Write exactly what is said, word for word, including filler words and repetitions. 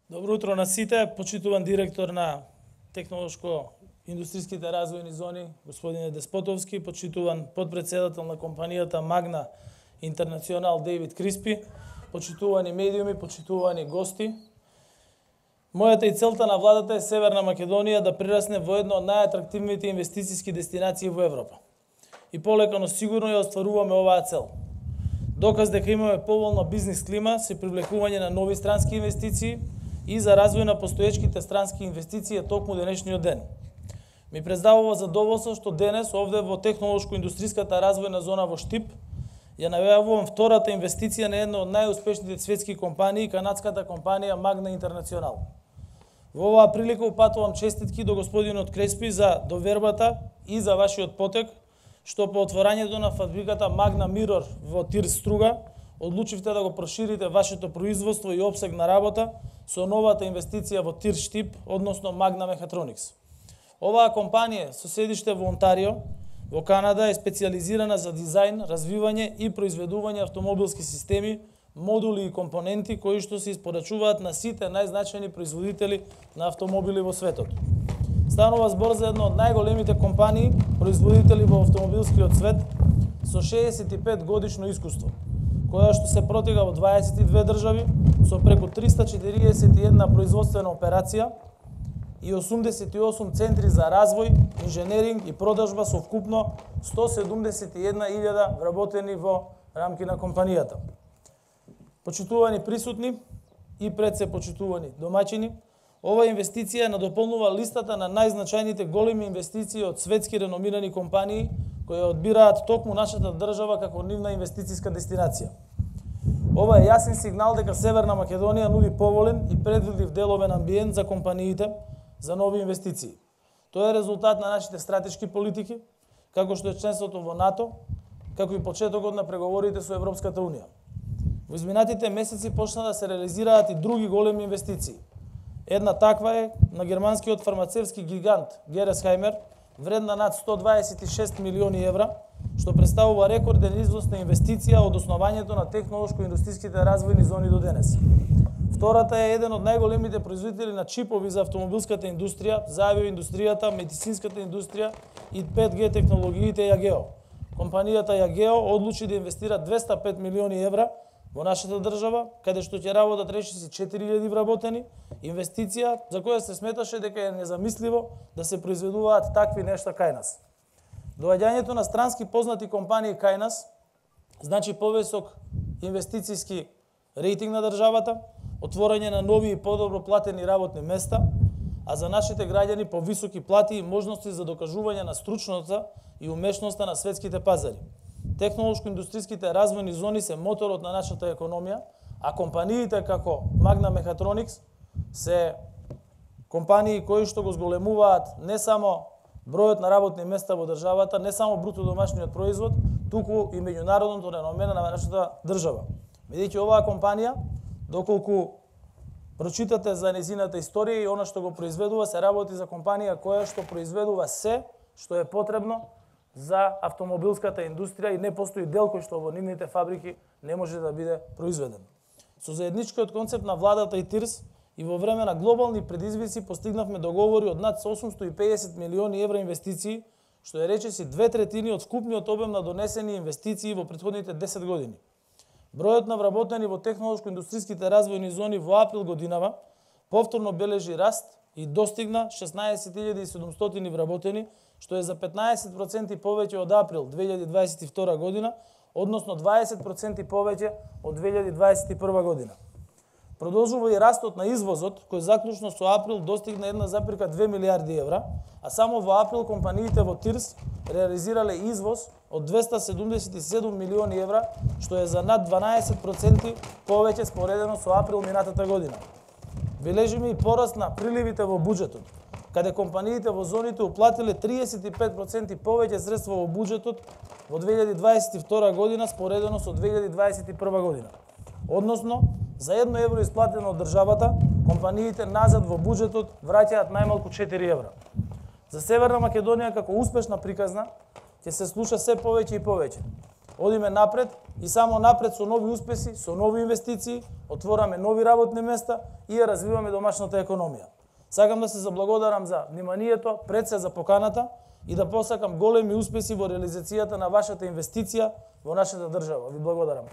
Добро утро на сите, почитуван директор на технолошко-индустријските развојни зони, господине Деспотовски, почитуван подпредседател на компанијата Магна Интернационал Дејвид Криспи, почитувани медиуми, почитувани гости. Мојата и целта на владата е Северна Македонија да прерасне во една од најатрактивните инвестициски дестинации во Европа. И полека, но сигурно ја остваруваме оваа цел. Доказ дека имаме поволна бизнис клима се привлекување на нови странски инвестиции и за развој на постоечките странски инвестиции е токму денешниот ден. Ми представува задоволство што денес овде во технолошко-индустријската развојна зона во Штип ја најавувам втората инвестиција на една од најуспешните светски компании, канадската компанија Магна Интернационал. Во оваа прилика упатувам честитки до господинот Креспи за довербата и за вашиот потек, што по отворањето на фабриката Магна Мирор во Тирс Струга одлучивте да го проширите вашето производство и опсег на работа со новата инвестиција во Тирс Штип, односно Магна Мехатроникс. Оваа компанија со седиште во Онтарио, во Канада, е специјализирана за дизајн, развивање и произведување автомобилски системи, модули и компоненти кои што се испорачуваат на сите најзначајни производители на автомобили во светот. Станува збор за една од најголемите компании, производители во автомобилскиот свет, со шеесет и пет годишно искуство, која што се протега во дваесет и две држави, со преку триста четириесет и една производствена операција и осумдесет и осум центри за развој, инженеринг и продажба со вкупно сто седумдесет и една илјада вработени во рамки на компанијата. Почитувани присутни и пред се почитувани домаќини, ова инвестиција надополнува листата на најзначајните големи инвестиции од светски реномирани компании кои одбираат токму нашата држава како нивна инвестициска дестинација. Ова е јасен сигнал дека Северна Македонија нуди поволен и предвидлив деловен амбиент за компаниите за нови инвестиции. Тоа е резултат на нашите стратешки политики, како што е членството во НАТО, како и почетокот на преговорите со Европската Унија. Во изминатите месеци почна да се реализираат и други големи инвестиции. Една таква е на германскиот фармацевски гигант Гересхаймер, вредна над сто дваесет и шест милиони евра, што представува рекорден износ на инвестиција од основањето на технолошко-индустријските развојни зони до денес. Втората е еден од најголемите производители на чипови за автомобилската индустрија, за авиоиндустријата, медицинската индустрија и пет Г технологиите Јагео. Компанијата Јагео одлучи да инвестира двеста и пет милиони евра во нашата држава, каде што ќе работат речиси четири илјади вработени, инвестиција за која се сметаше дека е незамисливо да се произведуваат такви нешта кај нас. Доаѓањето на странски познати компании кај нас значи повисок инвестициски рейтинг на државата, отворање на нови и подобро платени работни места, а за нашите граѓани повисоки плати и можности за докажување на стручноста и умешноста на светските пазари. Технолошко-индустријските развојни зони се моторот на нашата економија, а компаниите како Магна Мехатроникс се компании кои што го зголемуваат не само бројот на работни места во државата, не само бруто домашниот производ, туку и меѓународното реноме на нашата држава. Бидејќи оваа компанија, доколку прочитате за незината историја и она што го произведува, се работи за компанија која што произведува се што е потребно за автомобилската индустрија и не постои дел кој што во нивните фабрики не може да биде произведен. Со заедничкиот концепт на владата и Тирс и во време на глобални предизвици постигнавме договори од над осумсто и педесет милиони евра инвестиции, што е речиси две третини од вкупниот обем на донесени инвестиции во претходните десет години. Бројот на вработени во технолошко-индустријските развојни зони во април годинава повторно бележи раст и достигна шеснаесет илјади и седумстотини вработени, што е за петнаесет проценти повеќе од април две илјади дваесет и втора година, односно дваесет проценти повеќе од две илјади дваесет и прва година. Продолжува и растот на извозот, кој заклучно со април достигна една запирка две милијарди евра, а само во април компаниите во Тирс реализирале извоз од двеста седумдесет и седум милиони евра, што е за над дванаесет проценти повеќе споредено со април минатата година. Бележиме и пораст на приливите во буџетот, каде компаниите во зоните уплатиле триесет и пет проценти повеќе средства во буџетот во две илјади дваесет и втора година споредено со две илјади дваесет и прва година. Односно, за едно евро исплатено од државата, компаниите назад во буџетот враќаат најмалку четири евра. За Северна Македонија како успешна приказна ќе се слуша се повеќе и повеќе. одиме напред и само напред со нови успеси, со нови инвестиции, отвораме нови работни места и ја развиваме домашната економија. Сакам да се заблагодарам за вниманието, пред се за поканата и да посакам големи успеси во реализацијата на вашата инвестиција во нашата држава. Ви благодарам.